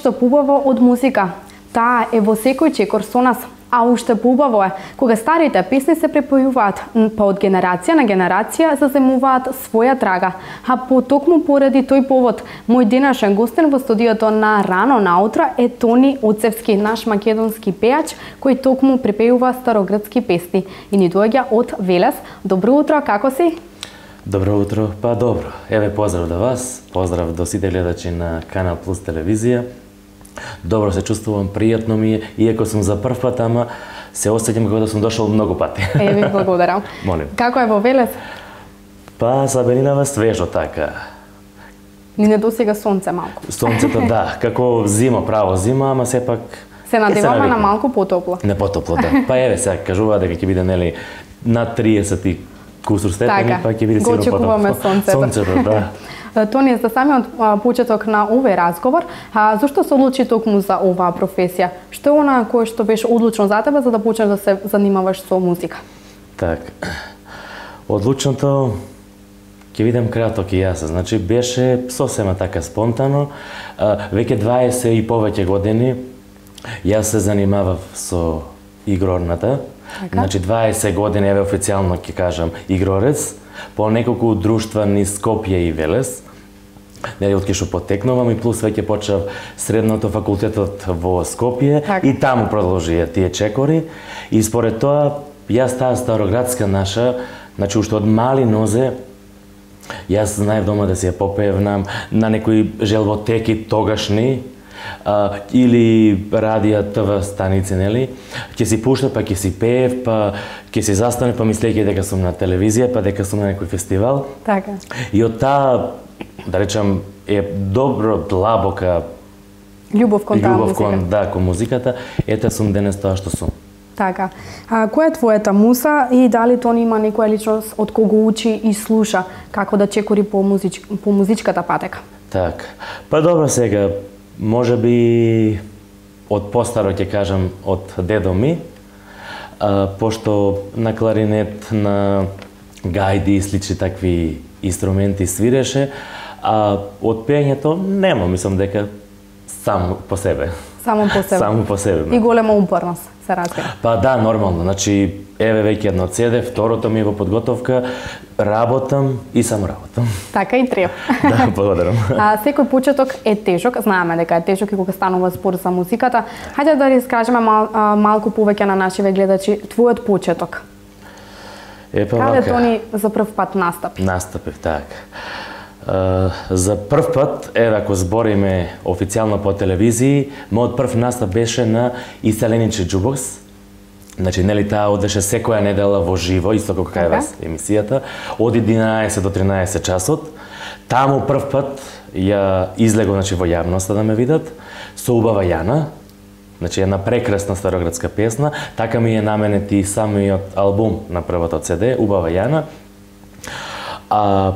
нешто побаво од музика. Таа е во секој чекор со нас. А уште побаво е, кога старите песни се препојуваат, па од генерација на генерација заземуваат своја трага. А потокму поради тој повод, мој денешен гостин во студиото на Рано наутро е Тони Оцевски, наш македонски пејач, кој токму препејува старогрцки песни и ни доаѓа од Велес. Добро утро, како си? Добро утро, па добро. Еве поздрав до вас, поздрав до сите гледачи на Канал Плюс телевизија. Добро се чувствувам, пријатно ми е, иако сум за прв пат, ама се осеќам како да сум дошол многу пати. Ви благодарам. Молим. Како е во Велес? Па забелинава свежо така. Ни не досега сонце малку. Сонцето да, како зима, право зима, ама сепак се надеваме на малку потопло. Не потопло, да. Па еве сега кажува дека ќе биде нели над 30 и кусур степени, па ќе биде сигурно потопло. Го очекуваме сонцето. Сонцето, да. Тони, за самиот почеток на овој разговор, зошто се одлучи токму за оваа професија? Што е она кое што беше одлучно за тебе за да почнеш да се занимаваш со музика? Така. Одлучното ќе видам краток и јас. Значи беше сосема така спонтано. Веќе 20 и повеќе години јас се занимавав со игрорната. Така? Значи 20 години еве официјално ќе кажам игрорец по неколку друштва низ Скопје и Велес. Нели од кај што потекнувам и плюс веќе почнав средното факултетот во Скопје и таму продолжија тие чекори и според тоа јас таа староградска наша, значи уште од мали нозе јас знаев дома да си ја попевнам на некои желвотеки тогашни или радија ТВ станици, нели? Ќе си пуштав, па ќе си пеев, па ќе си застанев, па мислејќи дека сум на телевизија, па дека сум на некој фестивал. Така. И од таа, да речам, е добро длабока љубов кон таа музика. Да, кон музиката, ете сум денес тоа што сум. Така. Која е твојата муса и дали Тони има некоја личност од кого учи и слуша како да чекори по музичката патека? Така. Па добро сега, може би од постаро ќе кажам од дедо ми, пошто на кларинет, на гајди и слични такви инструменти свиреше, а од пењето нема, мислам дека само по себе. Само по себе. Само по себе. И голема упорност се разбира. Па да, нормално. Значи, еве веќе едно CD, второто ми е во подготовка, работам и само работам. Така и треба. Да, благодарам. Секој почеток е тежок, знаеме дека е тежок и кога станува збор за музиката. Хајде да искажеме малку повеќе на нашиве гледачи твојот почеток. Каде Тони за прв пат настапи? Настапив, така. За прв пат, еве ако збориме официјално по телевизии, мојот прв настап беше на Иселениче Џубокс. Значи, нели таа одеше секоја недела во живо, исто како кај вас емисијата, од 11 до 13 часот. Таму прв пат ја излего, значи, во јавноста да ме видат, со Убава Јана, значи една прекрасна староградска песна, така ми е наменет и самиот албум на првото CD, Убава Јана.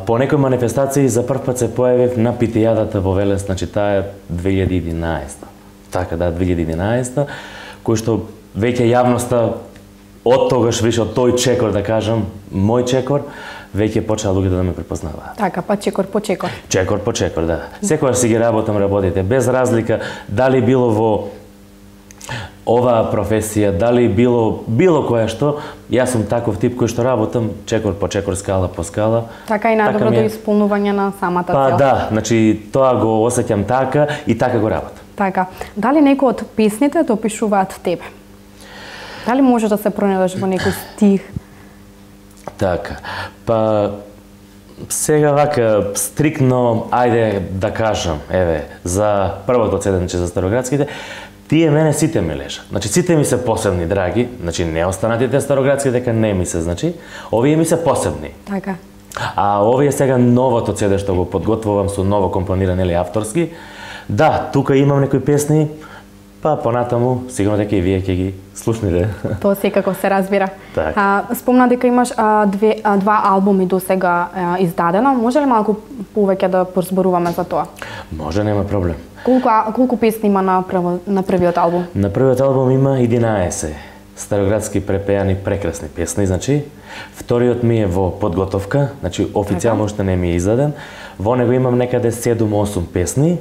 По некои манифестации за прв пат се појавив на Питијадата во Велес, значи таа е 2011. Така да, 2011, кој што веќе јавноста од тогаш више од тој чекор, да кажам, мој чекор, веќе почнаа луѓето да ме препознаваат. Така, па чекор по чекор. Чекор по чекор, да. Секогаш си ги работите, без разлика дали било во оваа професија, дали било која што, јас сум таков тип кој што работам чекор по чекор, скала по скала. Така и најдобро до исполнување на самата цел. Па да, значи тоа го осеќам така и така го работам. Така. Дали некој од песните те опишуваат тебе? Дали можеш да се пронајдеш во некој стих? Така. Па сега вака стрикно, ајде да кажам, еве, за првото CD, за староградските, тие мене сите ми лежат. Значи сите ми се посебни, драги, значи не останатите староградски дека не ми се, значи, овие ми се посебни. Така. А овие сега новото CD што го подготвувам со ново компониран или авторски. Да, тука имам некои песни, па понатаму сигурно дека и вие ќе ги слушнете. Тоа секако се разбира. Так. Спомна дека имаш два албуми до сега издадено. Може ли малку повеќе да порозборуваме за тоа? Може, нема проблем. Колку песни има на првиот албум? На првиот албум има 11 староградски препеани прекрасни песни, значи. Вториот ми е во подготовка, значи официјално уште не ми е издаден. Во него имам некаде 7-8 песни.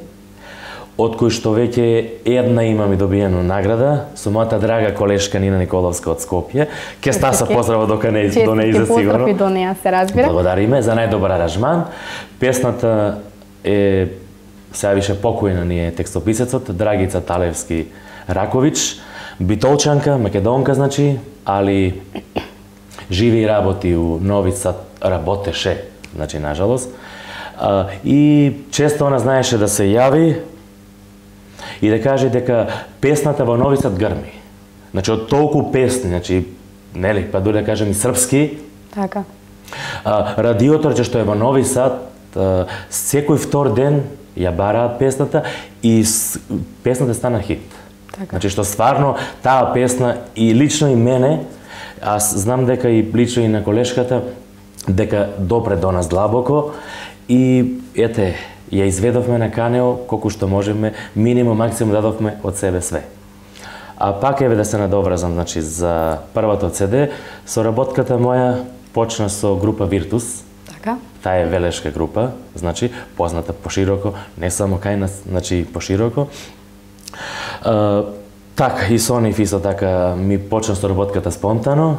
од кои што веќе една имам и добиено награда со мојата драга колешка Нина Николовска од Скопје. Ке Стаса поздрава дока не до неја сигурно. Честитки до неја, се разбира. Благодариме за најдобар аранжман. Песната е сега више покојна ни е текстописецот Драгица Талевски Ракович, битолчанка, македонка значи, али живи и работи у Нови Сад, работеше, значи нажалост. И често она знаеше да се јави и да каже дека песната во Нови Сад грми. Значи од толку песни, значи нели, па дури да кажем и српски. Така. Радиото што е во Нови Сад секој втор ден ја бараат песната и песната стана хит. Така. Значи што стварно таа песна и лично и мене, аз знам дека и лично и на колешката, дека допре до нас длабоко и ете, ја изведовме на Канео колку што можеме, минимум, максимум дадовме од себе све. А пак еве да се надовразам, значи за првото CD, соработката моја почна со група Virtus. Така. Таа е велешка група, значи позната пошироко, не само кај нас, значи пошироко. Така, и со нив исто така ми почна соработката спонтано.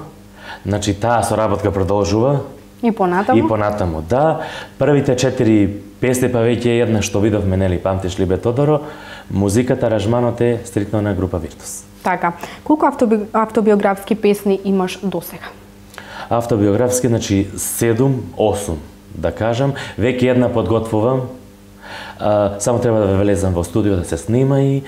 Значи таа соработка продолжува. И понатаму? И понатаму, да. Првите 4 песни, па веќе една што видовме, нели, памтиш ли бе Тодоро, музиката, аранжманот е стритно на група Virtus. Така. Колку автобиографски песни имаш досега? Автобиографски, значи 7, 8, да кажам. Веќе една подготвувам. Само треба да влезам во студио да се снима и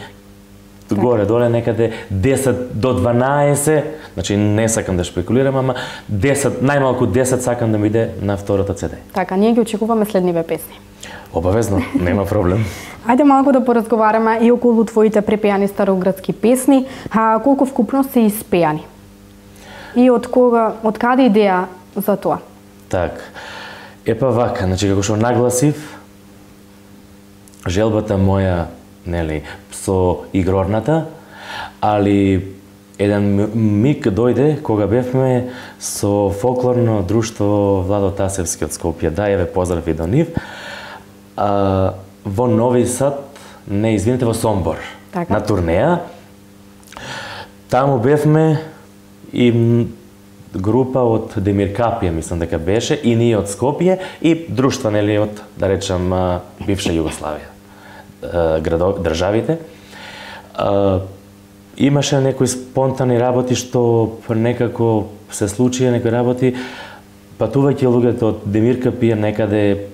горе-доле некаде 10 до 12, значи не сакам да шпекулирам, ама 10, најмалку 10 сакам да ми иде на второто CD. Така, ние ги очекуваме следниве песни. Обавезно, нема проблем. Ајде малку да поразговараме и околу твоите препеани староградски песни, колку вкупно се испеани? И од каде идеја за тоа? Так, епа вака, значи како што нагласив, желбата моја, нели, со игрорната, али еден миг дојде кога бевме со фолклорно друштво Владо Тасевски од Скопје, да, еве поздрав и до нив, во Нови Сад, не, извините, во Сомбор, така, на турнеја. Таму бевме и група од Демир Капија, мислам дека беше, и ние од Скопје, и друштва, нели, од, да речам, бивша Југославија, државите. Имаше некои спонтани работи што некако се случија, некои работи, патувајќи луѓето од Демир Капија некаде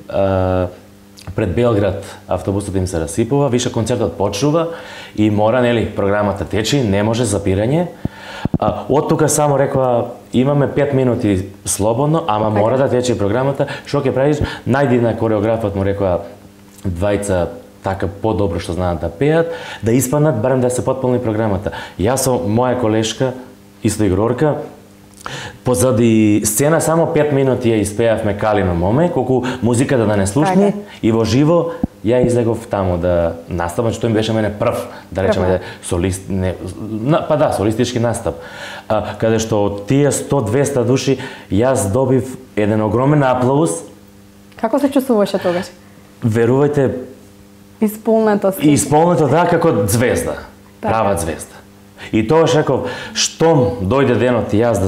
пред Белград, автобусот им се расипува, више концертот почнува и мора, нели, програмата течи, не може запирање. Од тука само рекоа, имаме 5 минути слободно, ама мора да тече програмата, што ќе правиш? Најди на кореографот, му рекоа, двајца така подобро што знаат да пеат, да испаднат, барем да се потполни програмата. Јас со моја колешка, исто игрорка, позади сцена само 5 минути ја испеавме Калино моме, колку музиката да не слушне, и во живо ја излегов таму да наставам, што им беше мене прв, да речеме, солист, не, па да, солистички настап. Каде што од тие 100-200 души, јас добив еден огромен аплауз. Како се чувствуваше тогаш? Верувајте, исполнето, да, како звезда, права звезда. И тогаш реков, штом дојде денот јас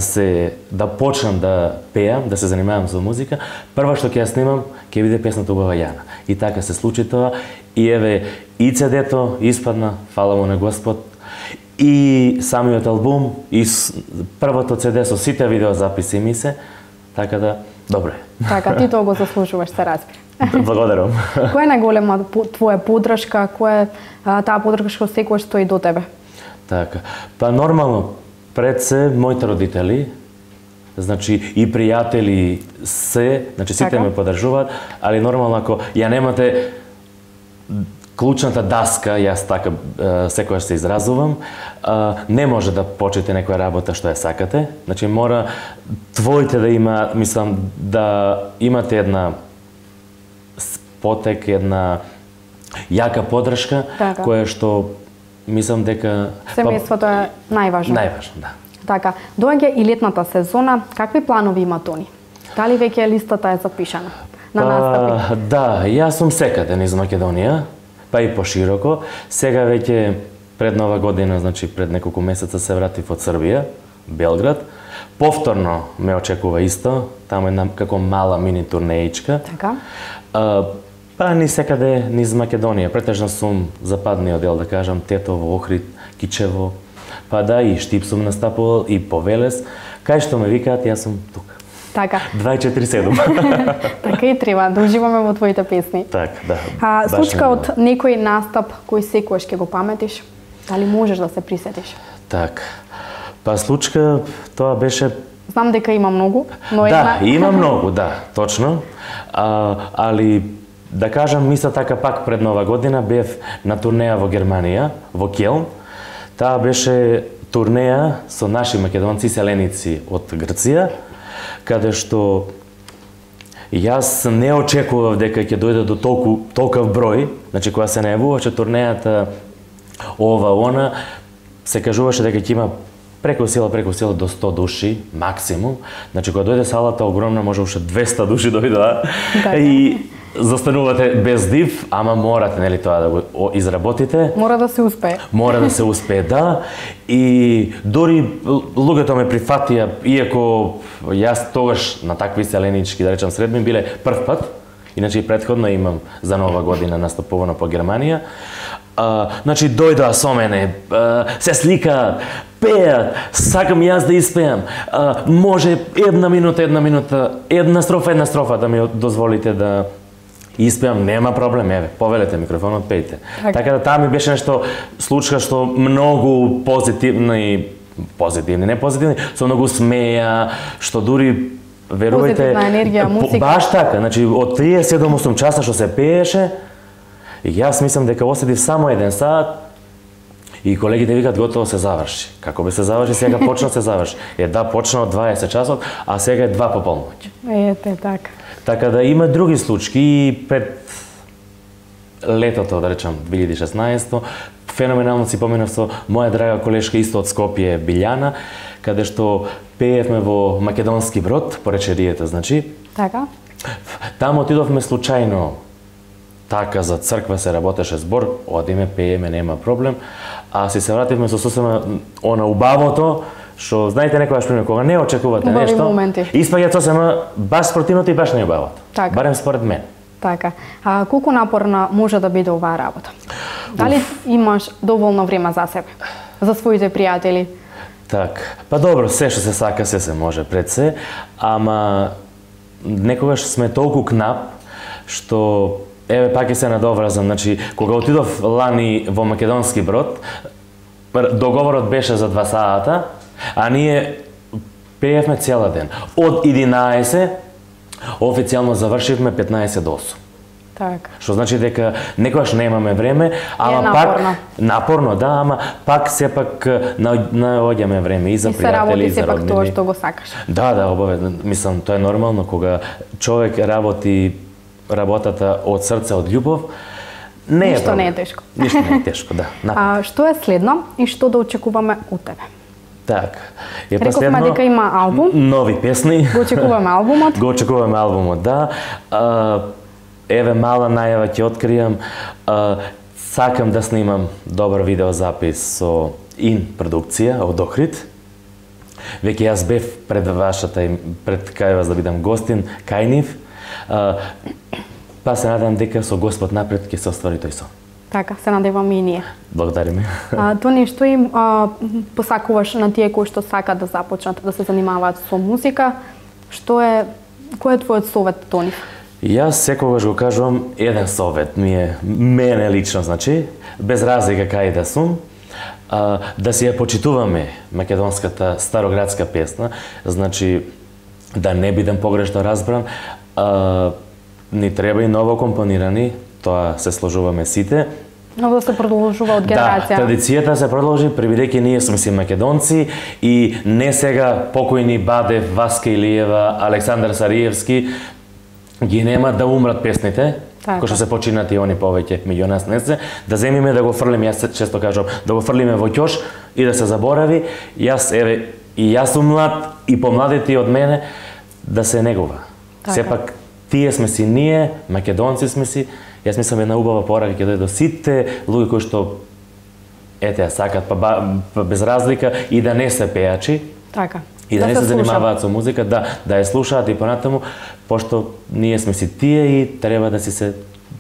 да почнам да пеам, да се занимавам со музика, прва што ќе ја снимам, ќе биде песната Убава Јана. И така се случи тоа, и еве, и CD-то испадна, фала му на Господ, и самиот албум, и првото CD со сите видеозаписи ми се, така да, добре. Така, ти тоа го заслужуваш, се разбира. Благодарам. Која е најголема твоја поддршка, која е таа поддршка што секогаш стои до тебе? Така, па нормално, пред се моите родители, значи и пријатели се, значи сите ме поддржуваат, али нормално ако ја немате клучната даска, јас така секогаш се изразувам, не може да почнете некоја работа што ја сакате, значи мора твоите да има, мислам, да имате една потек, една јака поддршка, која што мислам дека семејството е најважно. Најважно, да. Така, доаѓа и летната сезона, какви планови има Тони? Дали веќе листата е запишана на настапи? Да, јас сум секаде низ Македонија. па и пошироко. Сега веќе пред Нова година, значи пред неколку месеца се вратив од Србија, Белград. Повторно ме очекува исто, таму една како мала мини турнеичка. Така. Па ни секаде низ Македонија, претежно сум западниот дел, да кажам, Тетово, Охрид, Кичево, па да и Штип сум настапувал и по Велес, кај што ме викаат, јас сум тука. Така. 24/7. Така и треба, да уживаме во твоите песни. Так, да. Случка од некој настап кој секогаш ќе го паметиш? Дали можеш да се присетиш? Так. Па случка, тоа беше... Знам дека има многу, но Да, има многу, да, точно. Али, да кажам, исто така пак пред Нова година бев на турнеја во Германија, во Келн. Таа беше турнеја со наши македонци селеници од Грција, каде што јас не очекував дека ќе дојде до толков број, значи кога се најавуваше турнејата ова она, се кажуваше дека ќе има преку сила до 100 души максимум. Значи кога дојде салата огромна, може уште 200 души дојдоа. И застанувате без див, ама морате, нели, тоа да го изработите. Мора да се успее. Мора да се успее, да. И дури луѓето ме прифатија, иако јас тогаш на такви селенички, да речам, средби биле прв пат. Иначе и претходно имам за Нова година настапувано по Германија. Значи дојдоа со мене, се сликаат, пеат, сакам јас да испеам. Може една минута, една строфа да ми дозволите да испеам, нема проблем, еве, повелете микрофонот, пејте. Така да таа ми беше нешто случка што многу позитивни, не позитивни, со многу смеја, што дури верувајте, позитивна енергија, музика. Баш така, значи од 37-8 часа што се пееше, јас мислам дека осетив само 1 сат и колегите викат готово се заврши. Како би се заврши, сега почна се заврши. Да, почна од 20 часот, а сега е 2 по полноќ. Ете, така. Така да има други случаи и пред летото, да речам, 2016, феноменално си поминав со моја драга колешка исто од Скопје, Билјана, каде што пеевме во Македонски Брод, по речеријата, значи. Така. Таму отидовме случајно, така за црква се работеше збор, одиме, пееме, нема проблем, а си се вративме со сосема она убавото, што знаете некогаш пример кога не очекувате убави нешто, моменти. испаѓа сосема баш спротивното и баш најубавото. Така. Барем според мен. Така. Колку напорна може да биде оваа работа? Дали имаш доволно време за себе, за своите пријатели? Так, па добро, се што се сака, се може пред се, ама некогаш сме толку кнап, што еве пак ќе се надовразам, значи кога отидов лани во Македонски Брод, договорот беше за 2 сата, а ние пеевме цела ден. Од 11 официјално завршивме 15 до 8. Така. Што значи дека некогаш немаме време, ама напорно. пак напорно, да, ама пак сепак наоѓаме време и за пријатели и за роднини. И се работи сепак тоа што го сакаш. Да, обавезно. Мислам, тоа е нормално кога човек работи работата од срце, од љубов. Ништо не е тешко. Ништо не е тешко, да. Што е следно и што да очекуваме од тебе? Так. Рековме дека има албум. Нови песни. Го очекуваме албумот. Го очекуваме албумот, да. Еве мала најава ќе откријам. Сакам да снимам добар видеозапис со ин продукција од Охрид. Веќе јас бев пред кај вас да бидам гостин, кај нив. Па се надам дека со Господ напред ќе се оствари тој сон. Така, се надеваме и ние. Благодариме. Тони, што им посакуваш на тие кои што сакаат да започнат да се занимаваат со музика? Кој е твојот совет, Тони? Јас секогаш го кажувам еден совет, мене лично, значи, без разлика кај да сум, да си ја почитуваме македонската староградска песна, значи, да не бидам погрешно разбран, ни треба и ново компонирани, тоа се сложуваме сите. Но да се продолжува од генерација. Да, традицијата се продолжи, бидејќи ние сме си македонци и не сега покојни Бадев, Васка Илиева, Александар Сариевски, ги нема да умрат песните, кои што се починати они повеќе меѓу нас не се, да земиме да го фрлиме, јас често кажам, да го фрлиме во ќош и да се заборави. Јас сум млад и помладите од мене да се негува. Сепак тие сме си ние, македонци сме си Јас мислам една убава порака ќе дојде до сите луѓе кои што ете ја сакат па без разлика и да не се пејачи. Така. И да не се занимаваат со музика, да ја слушаат и понатаму, пошто ние сме си тие и треба да си се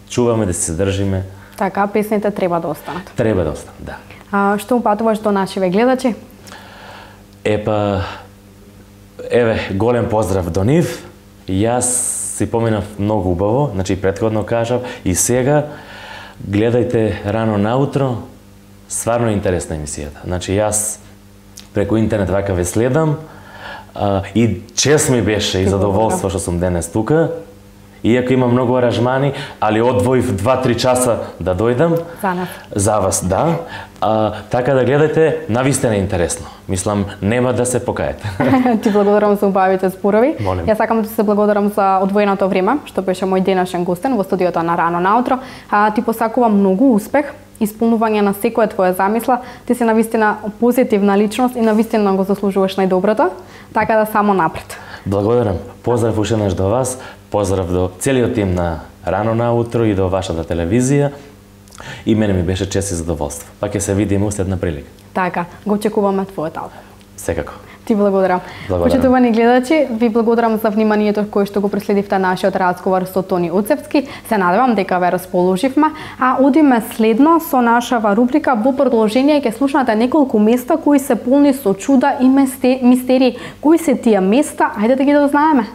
чуваме, да си се држиме. Така, песните треба да останат. Треба да останат, да. Што упатуваш до нашиве гледачи? Еве, голем поздрав до нив. Јас си поминав многу убаво, значи претходно кажав и сега гледајте рано наутро, стварно интересна емисијата. Значи јас преку интернет вака ве следам и чест ми беше и задоволство што сум денес тука. Иако има многу аранжмани, али одвоив 2-3 часа да дојдам. За нас. За вас, да. Така да гледајте, навистина интересно. Мислам, нема да се покаете. Ти благодарам за убавите зборови. Молим. Јас сакам да се благодарам за одвоеното време, што беше мој денешен гостен во студиото на Рано наутро. Ти посакувам многу успех, исполнување на секоја твоја замисла. Ти си навистина позитивна личност и навистина го заслужуваш најдоброто. Така да само напред. Благодарам. Поздрав уште еднаш до вас. Поздрав до целиот тим на Рано наутро и до вашата телевизија. И мене ми беше чест и задоволство. Па ќе се видиме уште една прилика. Така, го очекуваме твојот албум. Секако. Ти благодарам. Почитувани гледачи, ви благодарам за вниманието кој што го проследивте нашиот разговор со Тони Уцевски. Се надевам дека ве расположивме, а одиме следно со нашава рубрика. Во продолжение ќе слушнате неколку места кои се полни со чуда и мистерии. Кои се тие места? Ајде да ги дознаеме.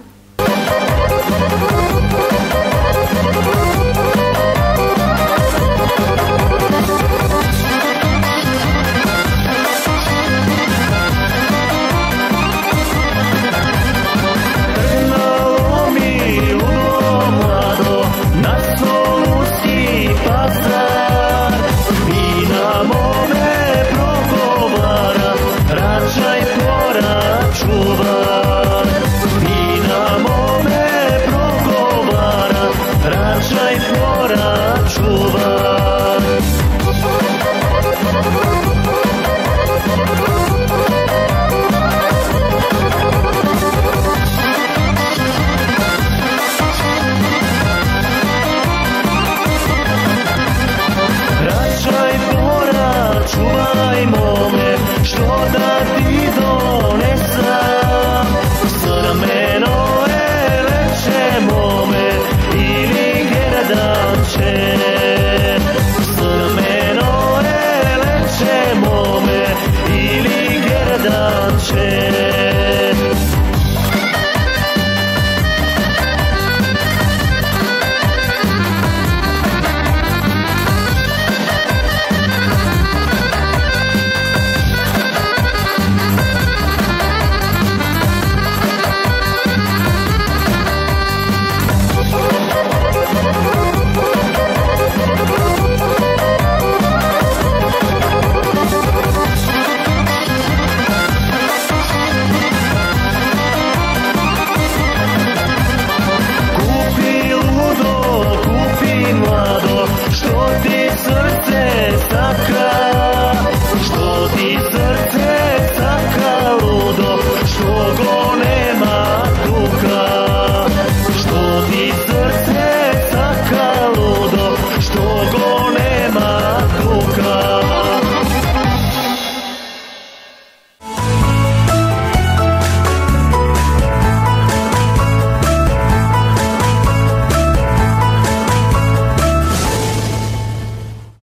Što ti srce saka ludo, što